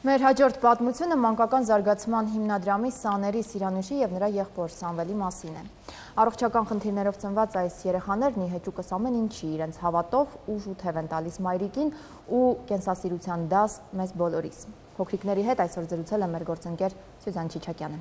Մեր հաջորդ պատմությունը մանկական զարգացման հիմնադրամի Սաների Սիրանուշի և նրա եղբոր Սամվելի մասին է։ Առողջական խնդիրներով ծնված այս երեխաներն ի հեճուկս ամեն ինչի իրենց հավատով ուժ ու թև են տալիս մայրիկին ու կենսասիրության դաս մեզ բոլորիս։ Փոքրիկների հետ այսօր զրուցել է մեր գործընկեր Սյուզան Չիչակյանը։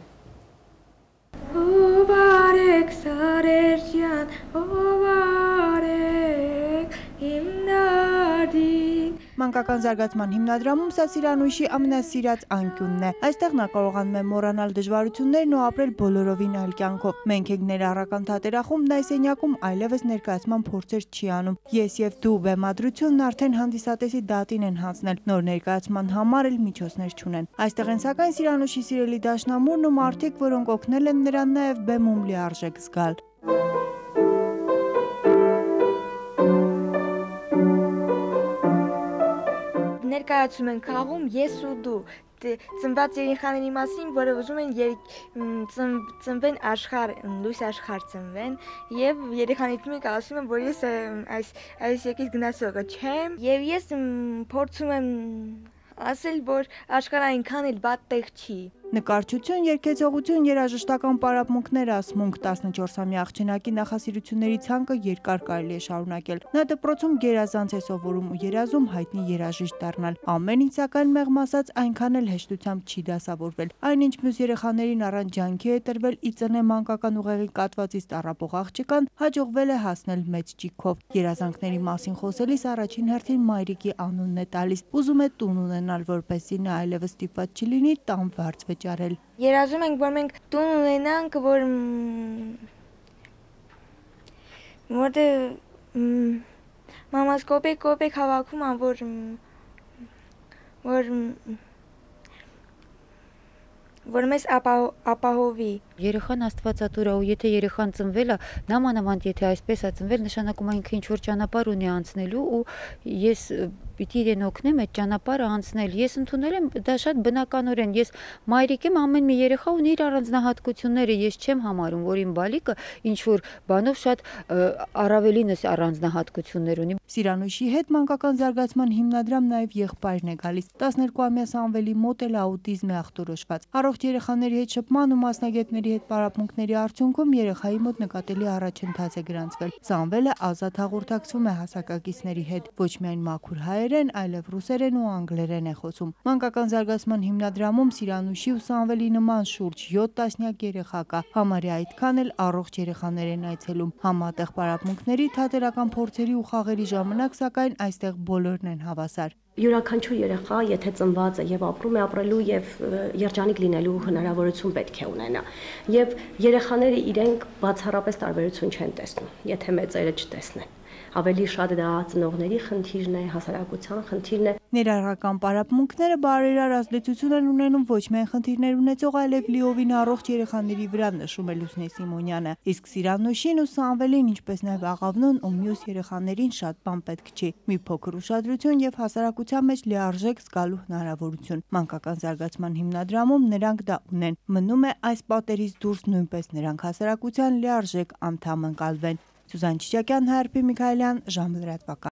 Ով արեք սարեր ջան, ով արեք հիմնադիր։ Մանկական զարգացման հիմնադրամում սա Սիրանուշի ամենասիրած անկյունն է։ Այստեղ նա կարողանում է մոռանալ դժվարություններն ու ապրել բոլորովին այլ կյանքով։ Մենք ենք ներառական թատերախումբն այս սենյակում այլևս ներկայացման փորձեր չի անում։ Ես եւ դու բեմադրությունն արդեն հանդիսատեսի դատին են հանձնել, նոր ներկայացման համար էլ միջոցներ չունեն։ Այստեղ են սակայն Սիրանուշի սիրելի դաշնամուրն ու մարդիկ, որոնք օգնել են նրան նաեւ բեմում լիարժեք զգալ։ Ներկայացում են խաղում ես ու դու ծնված երեխաների մասին, որը ուզում են ծնվեն աշխարհ, լույս աշխարհ ծնվեն, եւ երեխաներից մեկը ասում են, որ ես այս եկից գնացողը չեմ, եւ ես փորձում եմ ասել, որ աշխարհը այնքան էլ վատ տեղ չի։ Նկարչություն, երգեցողություն, երաժշտական պարապմունքներ, ասմունք 14-ամյա աղջնակի նախասիրությունների ցանկը երկար կարելի է շարունակել։ Նա դպրոցում գերազանց է սովորում ու երազում հայտնի երաժիշտ դառնալ։ Ամեն ինչ սակայն մեղմ ասած այնքան էլ հեշտությամբ չի դասավորվել։ Այնինչ մյուս երեխաներին առանց ջանքի է տրվել ի ծնե մանկական ուղեղի կատվածից տառապող աղջկան հաջողվել է հասնել մեծ ճիգով։ Երազանքների մասին խոսելիս առաջին հերթին մայրիկի անունն է տալիս։ Ուզում է տուն ունենալ, որպեսզի նա այլևս ստիպված չլինի տան վարձ վճարել։ Երազում ենք, որ մենք տուն ունենանք, որտեղ մամաս կոպեկ հավաքում ան, որ մեզ ապահովի։ Երեխան աստվածատուր է ու եթե երեխան ծնվել է, նամանավանդ եթե այսպես է ծնվել, նշանակում է ինքը ինչ-որ ճանապարհ ունի անցնելու ու ես պիտի իրեն օգնեմ այդ ճանապարհը անցնել։ Ես ընդունել եմ դա շատ բնականորեն։ Ես մայրիկ եմ, ամեն մի երեխա ունի իր առանձնահատկությունները։ Ես չեմ համարում, որ իմ բալիկը ինչ-որ բանով շատ առավելինս առանձնահատկություններ ունի։ Սիրանուշի հետ մանկական զարգացման հիմնադրամ նաև եղբայրն է գալիս։ 12-ամյա Սամվելի մոտ էլ աուտիզմ է ախտորոշված։ Առողջ երեխաների հետ շփման ու մասնագետների հետ պարապմունքների արդյունքում երեխայի մոտ նկատելի առաջընթաց է գրանցվել։ Սամվելը ազատ հաղորդակցվում է հասակակիցների հետ, ոչ միայն մաքուր հայերեն, այլև ռուսերեն ու անգլերեն է խոսում։ Մանկական զարգացման հիմնադրամում Սիրանուշի ու Սամվելի նման շուրջ 7 տասնյակ երեխա կա, համարյա այդքան էլ առողջ երեխաներ են այցելում։ Համատեղ պարապմունքների, թատերական փորձերի ու խաղերի ժամանակ սակայն այստեղ բոլորն են հավասար։ Յուրաքանչյուր երեխա, եթե ծնված է եւ ապրում է, ապրելու եւ երջանիկ լինելու հնարավորություն պետք է ունենա։ Եվ երեխաները իրենք բացառապես տարբերություն չեն տեսնում, եթե մեծերը չտեսնեն։ Ավելի շատ դա ծնողների խնդիրն է, հասարակության խնդիրն է։ Ներառական պարապմունքները բարերար ազդեցություն են ունենում ոչ միայն խնդիրներ ունեցող, այլև լիովին առողջ երեխաների վրա, նշում է Լուսնե Սիմոնյանը։ Իսկ Սիրանուշին ու Սամվելին, ինչպես նաև աղավնուն ու մյուս երեխաներին շատ բան պետք չի։ Մի փոքր ուշադրություն եւ հասարակության մեջ լիարժեք զգալու հնարավորություն։ Մանկական զարգացման հիմնադրամում նրանք դա ունեն։ Մնում է այս պատերից դուրս նույնպես նրանք հասարակության լիարժեք անդամ ընկալվեն։ Սյուզան Չիչակյան, Հայրապի Միքայելյան, ժամը լրատվական։